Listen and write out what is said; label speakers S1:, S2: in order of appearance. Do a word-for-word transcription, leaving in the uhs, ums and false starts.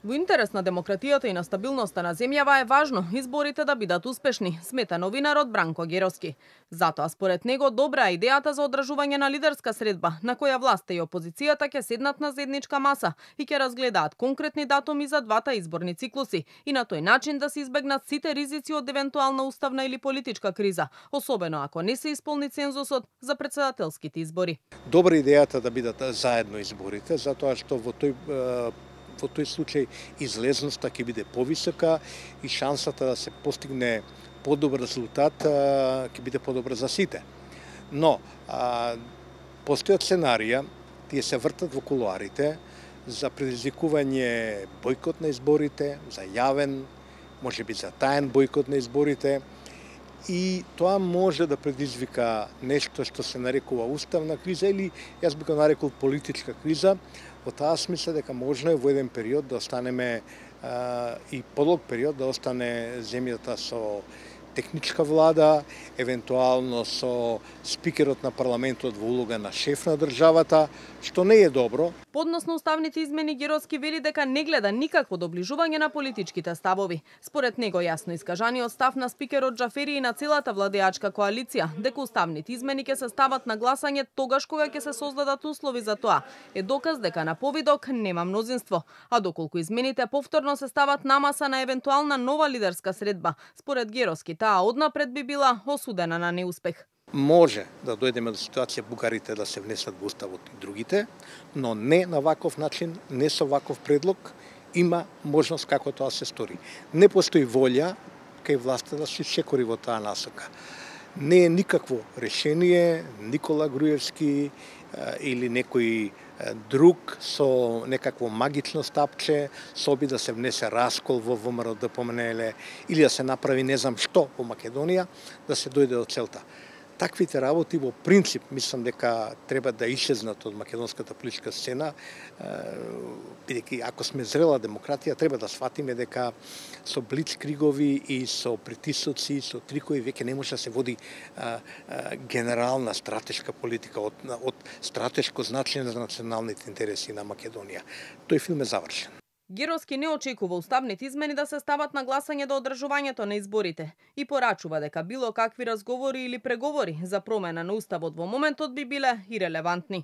S1: Во интерес на демократијата и на стабилноста на земјава е важно изборите да бидат успешни, смета новинарот Бранко Геровски. Затоа според него добра е идејата за одржување на лидерска средба, на која власта и опозицијата ќе седнат на заедничка маса и ќе разгледаат конкретни датуми за двата изборни циклуси и на тој начин да се избегнат сите ризици од евентуална уставна или политичка криза, особено ако не се исполни цензусот за претседателските избори.
S2: Добра идејата да бидат заедно изборите, затоа што во тој во тој случај излезноста ќе биде повисока и шансата да се постигне подобар резултат ќе биде подобра за сите. Но а, постојат сценарија, тие се вртат во кулуарите за предизвикување бојкот на изборите, за јавен, можеби за таен бојкот на изборите, и тоа може да предизвика нешто што се нарекува уставна криза или јас би го нарекол политичка криза. Во таа смисла дека можно е во еден период да останеме а, и подолг период да остане земјата со техничка влада, евентуално со спикерот на парламентот во улога на шеф на државата, што не е добро.
S1: Поднос на уставните измени Геровски вели дека не гледа никакво доближување на политичките ставови. Според него јасно искажаниот став на спикерот Џафери и на целата владеачка коалиција дека уставните измени ќе се стават на гласање тогаш кога ќе се создадат услови за тоа е доказ дека на повидок нема мнозинство, а доколку измените повторно се стават на маса на евентуална нова лидерска средба, според Геровски таа однапред би била осудена на неуспех.
S2: Може да дојдеме до ситуација бугарите да се внесат во уставот и другите, но не на ваков начин, не со ваков предлог, има можност како тоа се стори. Не постои волја кај власта да се секори во таа насока. Не е никакво решение Никола Груевски или некој друг со некакво магично стапче, со оби да се внесе раскол во ВМРО д П М Н Л или да се направи не знам што во Македонија, да се дојде до целта. Таквите работи во принцип мислам дека треба да исчезнат од македонската политичка сцена, бидејќи ако сме зрела демократија треба да сватиме дека со блицкригови и со притисоци, со трикови веќе не може да се води а, а, генерална стратешка политика од, од стратешко значење за националните интереси на Македонија. Тој филм е завршен.
S1: Геровски не очекува уставните измени да се стават на гласање до одржувањето на изборите и порачува дека било какви разговори или преговори за промена на уставот во моментот би биле ирелевантни.